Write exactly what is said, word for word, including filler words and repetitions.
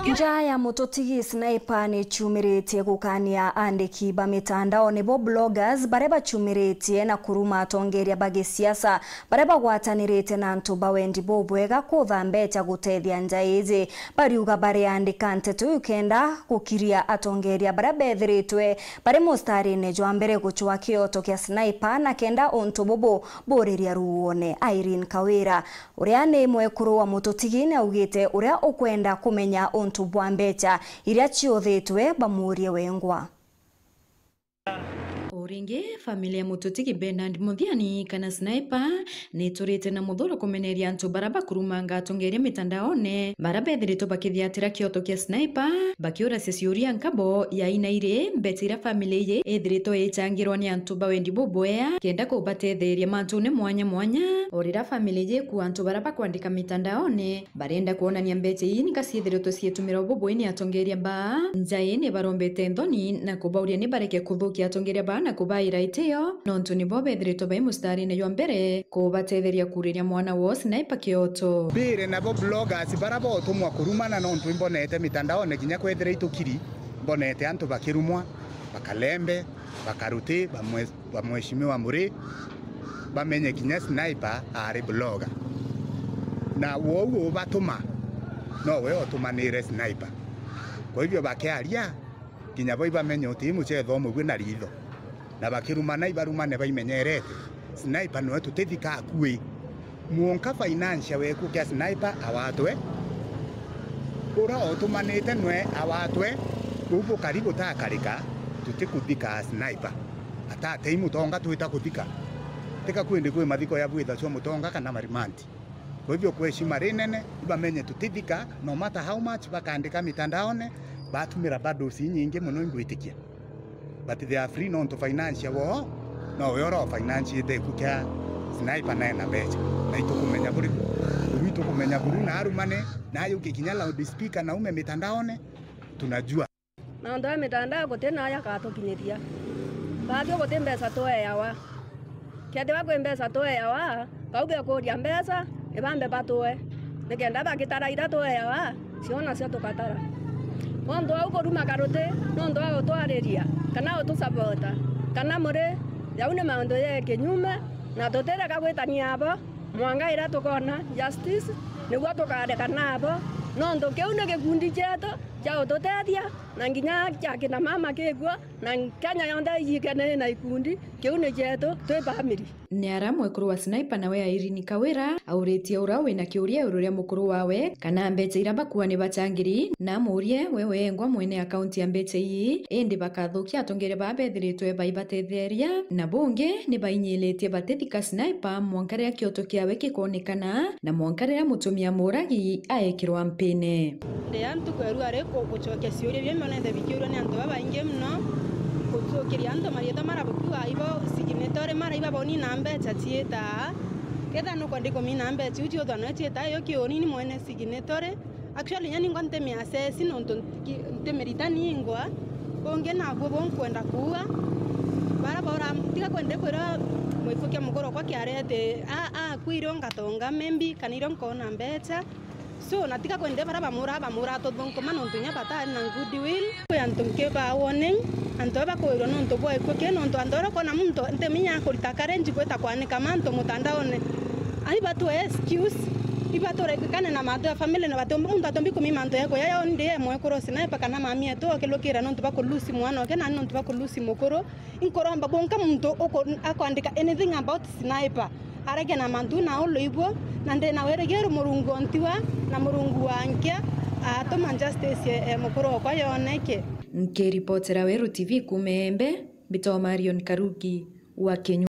Njaa ya mututigi Sniper ni ciumiritie gukania andiki ba mitandaone bo bloggers baria baciumiritie na kuruma atongeria ba gisiasa baria bagwatanirite na antu ba wendi bubwega kutha mbecha gutethia njaa iji. Bariuga bariandika nteto iu kenda gukiria atongeria baria bethiritwe bari mustarine jwa mbere gucwa kioto kia Sniper na kenda untu bubu buriria ruuone. Irene Kawira, uria ni mwekuru wa mututigi, ni augite uria ukwenda kumenya untu bwa mbecha iria ciuthitwe bamurie wengwa. O ringi, family ya mututigi Bernard Muthiani kana Sniper ni iturite na muthuro kumeneria antu baria bakurumanga atongeria mitandaone, baria bethiritwe bakithiatira kioto kia Sniper, bakiuracia ciuria nkabo ya aina iri mbecha iria family iji ithiritwe icangirwa ni antu ba wendi bubwea kenda kubatetheria mantune mwanya mwanya. O riria family iji ikua antu baria bakwandika mitandaone, barenda kwonania mbecha ii nika ciithiritwe ciitumirwa bubui ni atongeria baa. Njaa ii ni barombete nthoni na kubauria ni bareke kuthukia atongeria baa na kubaira itio, nontu nibo bethiritwe bai mustarine jwa mbere kubatetheria kuriria mwana woo Sniper kioto. Mbire nabo bloggers bara botumwa kurumana, nontu imbonete mitandaone kinya kwethira itukiri, mbonete antu bakirumwa, bakalembe, bakaruti, bamwe ba Mheshimiwa Muri, bamenye kinya Sniper ari blogger. Na wou ubatuma, nowe utumanire Sniper. Kwa hivyo bakiaria, kinya bo ibamenye uti muchetho umwe bwina ritho. Na bakirumana, ibarumane baimenyerete. Sniper noe tutithika akui. Mwonka financier weku kia Sniper awatwe. Ura utumanite nwe awatwe. Uu bukari butakarika, tutikuthika Sniper. Atatei mutonga twita kuthika. Tika kwindi kwi mathiko ya bwithacwa mutonga kana marimanti. Kwa hivyo, kwa heshima rinene, ibamenye tutithika, no matter how much bakandika mitandaone, batumira bundles inyingi muno, ingwitikia. But they are free, nontu financier woo nowe ura ufinanchite iku kia Sniper, nae na mbecha. Na itukumenya buri, buru itukumenya buru, na arumane, na ayuke kinya loudspeaker, na ume mitandaone, tunajua. Mauntu ya mitandao guti na aja akatukinyiria. Baatwi guti mbeca tweawa. Kethirwa kwi mbeca tweawa, bau bekuria mbeca, ni bambe batue. Nikenda bagitara iria tweawa, cio nacio tukatara. Nontu wa ukuruma karuti, nontu wa gutwariria, kana gutusapota, kana muri, jau ni mauntu ja kinyume, na tutireka gwitania abo, mwanka iria tukona justice, niguo tukareka nabo, nontu kiu ni gikundi cietu, kia ututethia, na nginya kia kina mama kikuo, na Kenya yonthe ijikene na ikundi, kiu ni cietu, twi family. Ni ara mwekuru wa Sniper nawe Irene Kawira auritie ura wina kiuria iguru ria mukuru wawe kana mbecha iria bakua ni bachangiri, na amurie we wengwa mwene akaunti ya mbecha ii, indi bakathukia atongeria baa bethiritwe baibatetheria, na bungi ni bainyilitie batithika Sniper mwanka riria kioto kiawe gikonekana, na mwanka riria mutumia muragi aekirwa mpine. Ndi a ntuku ya rua ri ku-, gucokia ciuria biria mbonete bikiurua ni antu babaingi mono, gucukiria antu mariitwa mara bukiuga ibo signatory, mara iba bonina mbecha ciitaa. Kethira nukwenda kumina mbecha iu ciuthwa noe ciitaa, iyo kiuni ni mwene signatory. Actually, inya ningwa ntimi assess nontu nti-, ki-, ntimirita ningwa. Bungi nabuo bunkwenda kuuga, bara bora, tiga kwenda kwira mwikukia mukuru okwa kiarete, a, a, kwi irio ngatonga maybe, kana irio nkona mbecha. So, na tiga kwende bara bamura, bamura tuthunkuma nontu inya batari na goodwill. Kwi antu nkiba warning, antu aba bakwirwa nontu bwa ikue ki, nontu antu bara ukona muntu ntiminya akurita courage gwita kwanika mantu mutandaone. Ai batwe excuse, ibature kane na mantu ya family na batombi, muntu atombi kumima mantu ya kuya yo ndi emwe kuru Sniper kana mami etu okilukira nontu bakulusi mwana oke na nontu bakulusi mukuru. Inkuromba bunka muntu uku-, akwandika anything about Sniper, arege na mantu na ulu ibuo, na ndina wirigiro Murungu ontiwa na Murungu wa nkia atuma justice e, e mukuru okwa yoneke. Nkiripotera Weru T V kuuma Embe, mbitwa Marion Karugi wa Kenya.